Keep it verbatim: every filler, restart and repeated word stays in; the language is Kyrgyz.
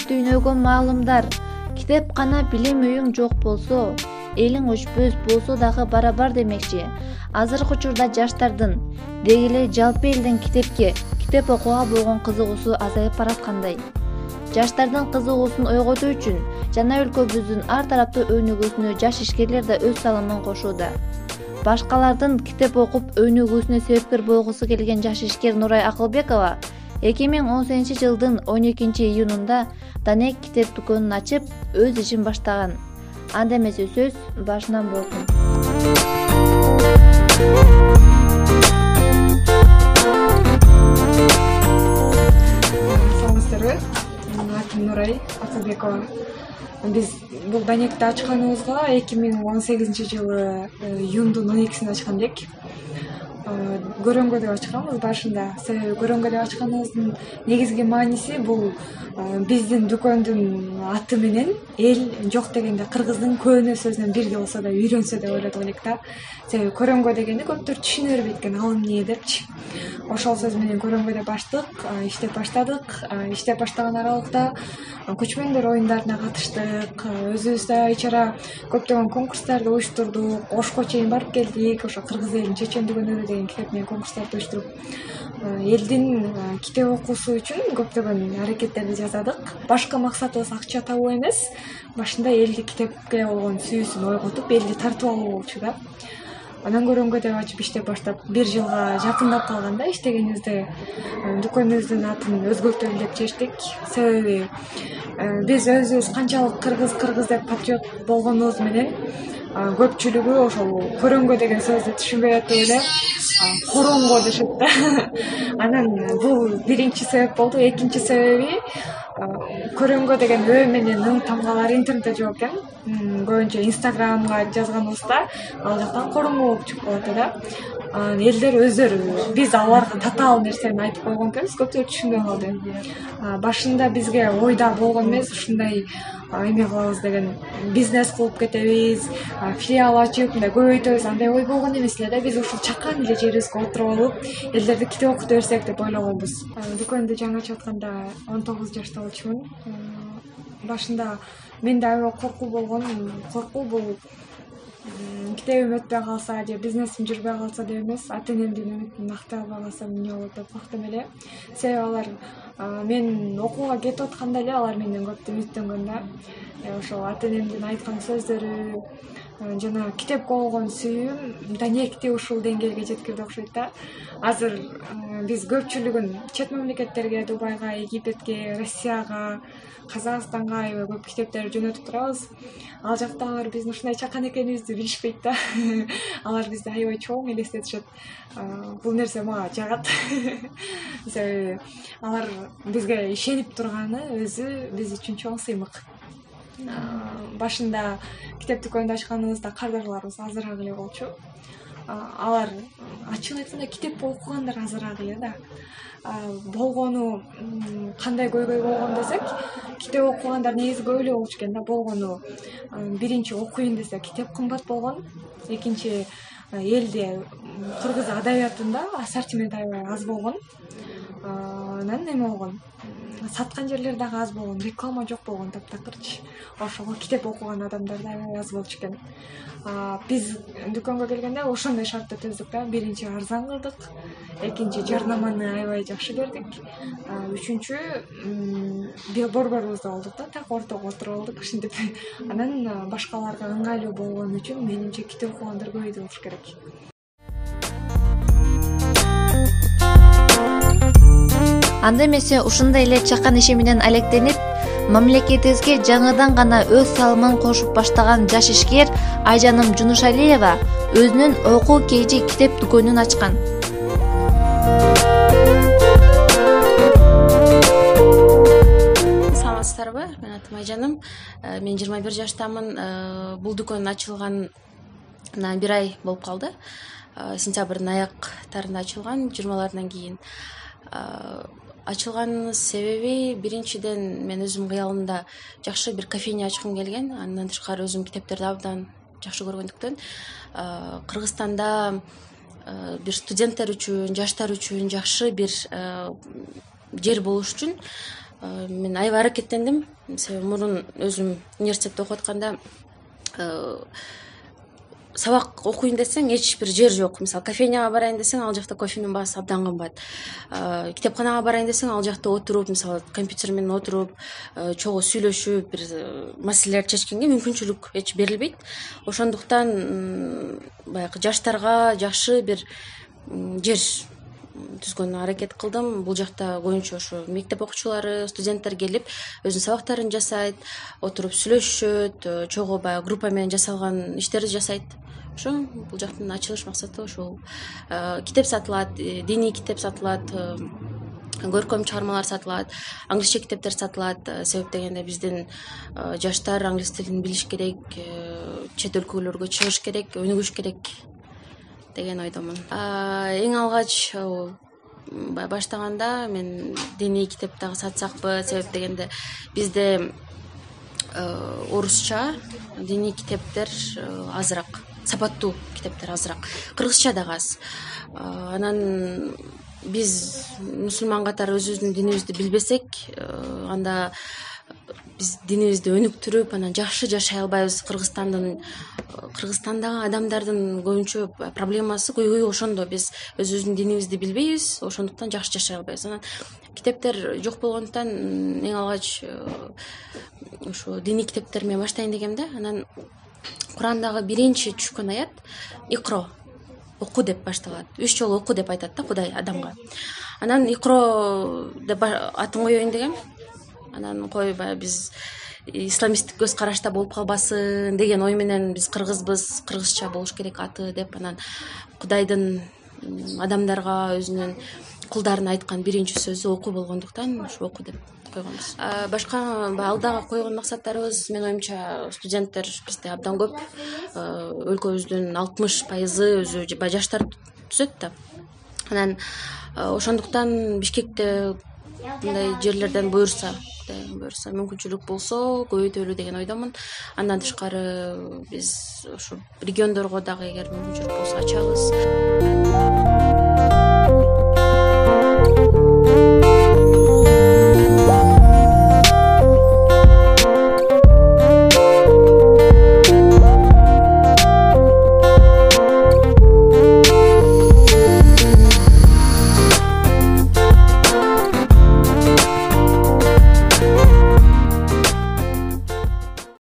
дүйнөгө маалымдар. Китепкана билим үйүң жок болсо, элиң өчпөс болсо дагы барабар демекчи. Азыркы учурда жаштардын, деги эле жалпы элдин китепке, китеп окууга болгон кызыгуусу азайып бараткандай. Жаштардын кызыгуусун ойготуу үчүн жана өлкөбүздүн ар тараптуу өнүгүүсүнө жаш ишкерлер да өз салымын кошууда. Башкалардын китеп окуп өнүгүүсүнө себепкер болгусу келген жаш ишкер Нурай Акылбекова эки миң он сегизинчи жылдын он экинчи июнунда Данек китеп дүкөнүн ачып, өз ишин баштаган. Анда эмесе сөз башынан болсун. Саламатсыздарбы? Менин атым Нурай Акылбекова. Биз бул Данекти ачканыбызга эки миң он сегизинчи жылы июндун он экисинде ачкан элек. Көрөнгө деп ачканбыз башында. Себеби көрөнгө деп ачканыбыздын негизги мааниси бул биздин дүкөндүн аты менен эл жок дегенде кыргыздын көөнө сөзүнөн бирге болсо да үйрөнсө деп ойлодук элек да. Себеби көрөнгө дегенди көптөр түшүнө бербейт экен, ал эмне депчи. Ошол сөз менен көрөнгө деп ачтык, иштеп баштадык. Иштеп баштаган аралыкта көчмөндөр оюндарына катыштык, өзүбүздөр ичара көптөгөн конкурстарды уюштурдук, Ошко чейин барып келдик. Ошо кыргыз элинин чечен дүгөнү деген китеп менен конкурстарды уюштуруп, элдин китеп окуусу үчүн көптөгөн аракеттерди жасадык. Башкы максатыбыз акча табуу эмес, башында элди китепке болгон сүйүүсүн ойготуп, элди тартып алуу болчу да. Анан көрөнгө деп ачып иштеп баштап бир жылга жакындап калганда иштегенибизде дүкөнүбүздүн атын өзгөртөлү деп чечтик. Себеби биз өзүбүз канчалык кыргыз кыргыз деп патриот болгонубуз менен көпчүлүгү ошол көрөнгө деген сөздү түшүнбөй атып эле коронго дешет да. Анан бул биринчи себеп болду. Экинчи себеби көрөнгө деген ө менен ың тамгалары интернетте жок экен. Көбүнчө Инстаграмга жазганыбызда ал жактан коронго болуп чыгып калат да. Элдер өздөрү биз аларга татаал нерсени айтып койгон экенбиз, көптөр түшүнбөй калды. Башында бизге ойда болгон эмес, ушундай эме кылабыз деген, бизнес кылып кетебиз, филиал ачып, мындай көбөйтөбүз, андай ой болгон эмес эле да. Биз ушул чакан эле жерибизге отуруп алып, элдерди китеп окута берсек деп ойлогонбуз. Дүкөндү жаңы ачып атканда он тогуз жашта болчумун. Башында менде аябай коркуу болгон. Коркуу бул китебим өтпөй калса же бизнесим жүрбөй калса деп эмес, ата энемдин үмүтүн актай албай калсам эмне болот деп корктум эле. Себеби алар мен окууга кетип атканда эле алар менден көп үмүттөнгөн да. Ошол ата энемдин айткан сөздөрү жана китепке болгон сүйүүм Данекти ушул деңгээлге жеткирди окшойт да. Азыр биз көпчүлүгүн чет мамлекеттерге, Дубайга, Египетке, Россияга, Казакстанга аябай көп китептерди жөнөтүп турабыз. Ал жактагылар биздин ушундай чакан экенибизди билишпейт да. Алар бизди аябай чоң элестетишет. Бул нерсе мага жагат. Себеби алар бизге ишенип турганы өзү биз үчүн чоң сыймык. Башында китеп дүкөнүндө ачканыбызда кардарларыбыз азыраак эле болчу. Алар ачыгын айтканда китеп окугандар азыраак эле да. Болгону кандай көйгөй болгон десек, китеп окугандар негизи көп эле болчу экен да. Болгону биринчи окуйн десе китеп кымбат болгон, экинчи элде кыргыз адабиятында ассортимент аябай аз болгон. Анан эме болгон, саткан жерлер дагы аз болгон, реклама жок болгон таптакырчы. Ошого китеп окуган адамдар да аябай аз болчу экен. Биз дүкөнгө келгенде ошондой шартты түздүк да. Биринчи арзан кылдык, экинчи жарнаманы аябай жакшы бердик, үчүнчү борборубузда болдук да, так ортого отуруп алдык ушинтип. Анан башкаларга ыңгайлуу болгон үчүн менимче китеп окугандар көбөйдү болуш керек. Анда эмесе ушундай эле чакан иши менен алектенип, мамлекетибизге жаңыдан гана өз салымын кошуп баштаган жаш ишкер Айжаным Жунушалиева өзүнүн окуу кейжи китеп дүкөнүн ачкан. Саламатсыздарбы? Мен атым Айжаным. Мен жыйырма бир жаштамын. Бул дүкөн ачылганына бир ай болуп калды. Сентябрдын аяктарында ачылган, жыйырмалардан кийин. Ачылган себеби биринчиден мен өзүм кыялымда жакшы бир кофейня ачкым келген. Андан тышкары өзүм китептерди абдан жакшы көргөндүктөн Кыргызстанда бир студенттер үчүн, жаштар үчүн жакшы бир жер болуш үчүн мен аябай аракеттендим, себеби мурун өзүм университетте окуп атканда сабак окуйн десең эч бир жер жок. Мисалы кофейняга барайын десең, ал жакта кофенин баасы абдан кымбат. Китепканага барайын десең, ал жакта отуруп, мисалы компьютер менен отуруп, чогуу сүйлөшүп, бир маселелерди чечкенге мүмкүнчүлүк эч берилбейт. Ошондуктан баягы жаштарга жакшы бир жер түзгөнгө аракет кылдым. Бул жакта көбүнчө ошо мектеп окуучулары, студенттер келип өзүнүн сабактарын жасайт, отуруп сүйлөшүшөт, чогуу баягы группа менен жасалган иштерди жасайт. Ошо бул жактын ачылыш максаты ошол. Китеп сатылат, диний китеп сатылат, көркөм чыгармалар сатылат, англисче китептер сатылат. Себеп дегенде биздин жаштар англис тилин билиш керек, чет өлкөлөргө чыгыш керек, өнүгүш керек деген ойдомун. Эң алгач баштаганда мен диний китеп дагы сатсакпы, себеп дегенде бизде орусча диний китептер азыраак, сапаттуу китептер азыраак, кыргызча дагы аз. Анан биз мусулман катары өзүбүздүн динибизди билбесек, анда биз динибизди өнүктүрүп, анан жакшы жашай албайбыз. Кыргызстандын Кыргызстандагы адамдардын көбүнчө проблемасы көйгөйү ошондо. Биз өзүбүздүн динибизди билбейбиз, ошондуктан жакшы жашай албайбыз. Анан китептер жок болгондуктан эң алгач ошо диний китептер менен баштайын дегем да. Анан Курандагы биринчи түшкөн аят икро, оку деп башталат. Үч жолу оку деп айтат да Кудай адамга. Анан икро деп атын коеюн дегем. Анан кой баягы биз исламисттик көз карашта болуп калбасын деген ой менен биз кыргызбыз, кыргызча болуш керек аты деп, анан Кудайдын адамдарга өзүнүн кулдарына айткан биринчи сөзү оку болгондуктан ошо оку деп койгонбуз. Башка алдыга койгон максаттарыбыз, менин оюмча, студенттер бизде абдан көп. Өлкөбүздүн алтымыш пайызы өзү жаштар түзөт да. Анан ошондуктан Бишкекте мындай жерлерден буюрса, буюрса мүмкүнчүлүк болсо көбөйтөлү деген ойдомун. Андан тышкары биз ошо региондорго дагы эгер мүмкүнчүлүк болсо ачабыз.